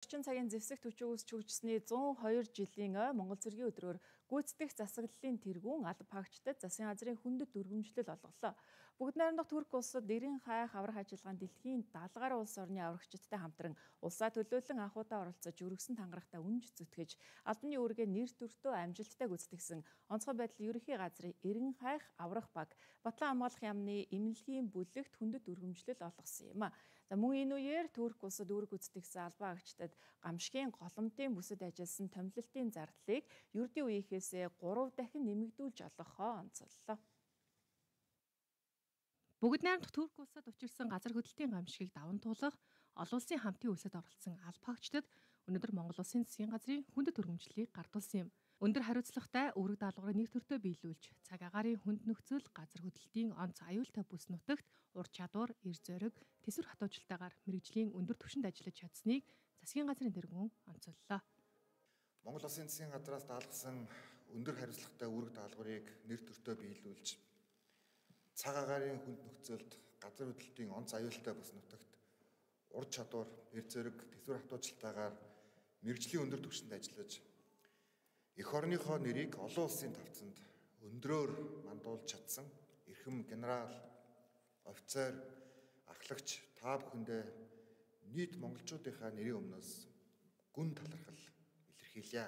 Орчин цагийн зэвсэг төчөөс чүгжсэний 102 жилийн ой Монгол Цэргийн өдрөөр гүйцэтгэх засаглалын тэргүүн алба хаагчдад засгийн газрын хүндэт өргөмжлөл олголоо. Бүгд найрамдах Турк улсад эрен хайх аврах ажиллагаанд дэлхийн 70 гаруй улс орны аврагчдтай хамтран улсаа төлөөлөн анхудаа оролцож өргөсөн тангарагтаа үнж зүтгэж албаны үүргээ нэр төртөө амжилттай гүйцэтгсэн онцгой байдал ерөнхий газрын эрен хайх аврах баг Батлан хамгаалах яамны эмнэлгийн бүлэгт хүндэт өргөмжлөл олгосон юм. Мөн энэ үеэр Турк улсад үүрэг гүйцэтгсэн албан хаагчдад гамшигын голомтын бүсэд ажилласан томилолтын зардлыг ердийн үеийнхээсээ 3 дахин нэмэгдүүлж олгохоо онцоллоо. Бүгд найрамдах Турк улсад учирсан газар хөдлөлтийн гамшигыг даван туулах олон улсын хамтын үсэд оролцсон алба хаагчдад өнөөдөр Монгол Улсын засгийн газрын хүндэт өргөмжлөлийг гардуулсан юм. Өндөр хариуцлагатай үүрэг даалгаврыг нэр төртөө биелүүлж, цаг агаарын хүнд нөхцөл, газар хөдлөлтийн онц аюултай бүс нутагт ур чадвар, эр зориг, тэсвэр хатуужилтаагаар мэргэжлийн өндөр түвшинд ажиллаж чадсныг засгийн газрын тэргүүн онцоллоо. Монгол Улсын засгийн газраас даалгасан өндөр хариуцлагатай үүрэг даалгаврыг нэр төртөө биелүүлж, цаг агаарын хүнд нөхцөлд, газар хөдлөлтийн онц аюултай бүс нутагт ур чадвар, эр зориг, тэсвэр хатуужилтаагаар мэргэжлийн өндөр түвшинд ажиллаж эх орныхоо нэрийг олон улсын тавцанд өндрөөр мандуулж чадсан эрхэм генерал, офицер, ахлагч та бүхэндээ нийт монголчуудынхаа нэрийн өмнөөс гүн талархал илэрхийлье.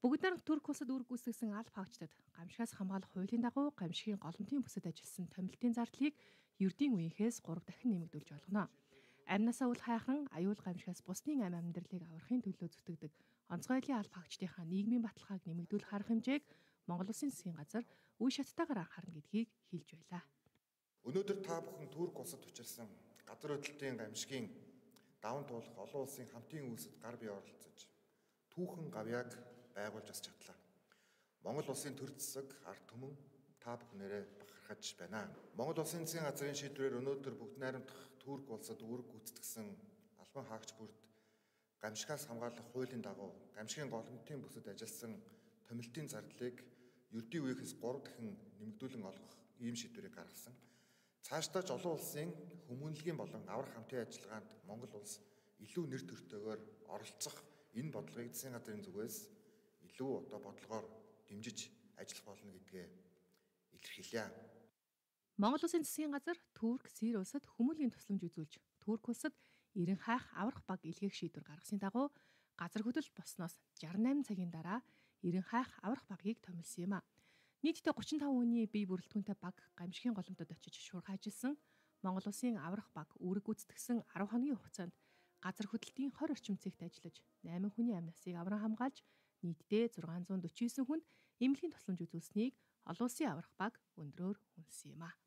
Бүгд найрамдах Турк улсад үүрэг гүйцэтгсэн алба хаагчдад гамшигаас хамгаалах хуулийн дагуу гамшигын голомтын бүсэд ажилласан томилтын зардлыг ердийн үеийнхээс 3 дахин нэмэгдүүлж олгоно. Амнасаа үл хайхран аюул гамшигаас бусдын амьдралыг аврахын төлөө зүтгэдэг онцгой байдлын алба хаагчдынхаа нийгмийн баталгааг нэмэгдүүлэх арга хэмжээг Монгол Улсын засгийн газар үе шаттайгаар анхаарна гэдгийг хэлж байлаа. Өнөөдөр та бүхэн Турк улсад учирсан газар хөдлөлтийн гамшигын даван туулах олон улсын хамтын үйлсэд гар бие оролцож түүхэн гавьяаг байгуулж бас чадлаа. Монгол Улсын төр засаг, ард түмэн та бүхнээрээ бахархаж байна. Монгол Улсын засгийн газрын шийдвэрээр өнөөдөр бүгд найрамдах Турк улсад үүрэг гүйцэтгсэн албан хаагч бүрд гамшигаас хамгаалах хуулийн дагуу гамшигын голомтын бүсэд ажилласан томилтын зардлыг ердийн үеийнхээс 3 дахин нэмэгдүүлэн олгох ийм шийдвэрийг гаргасан. Цаашдаа ч олон улсын хүмүүнлэгийн болон аврах хамтын ажиллагаанд Монгол улс илүү нэр төртөөгөөр оролцох энэ бодлогыг засгийн газрын зүгээс илүү бодлогоор дэмжиж ажиллах болно гэдгээ илэрхийлье. Монгол Улсын засгийн газар Турк, Сирь улсад хүмүүнлэгийн тусламж үзүүлж, Турк улсад эрен хайх аврах баг илгээх шийдвэр гаргасны дагуу газар хөдлөлт болсноос 68 цагийн дараа эрен хайх аврах багийг томилсон юм а. Нийтдээ 35 хүний бие бүрэлдэхүүнтэй баг гамшигын голомтод очиж шуурхай ажилласан. Монгол Улсын аврах баг үүрэг гүйцэтгсэн 10 хоногийн хугацаанд газар хөдлөлтийн 20 орчим цэгт ажиллаж 8 хүний амь насыг авран хамгаалж нийтдээ 649 хүнд эмнэлгийн тусламж үзүүлсэнийг олон улсын аврах баг өндрөөр үнэлсэн юм а.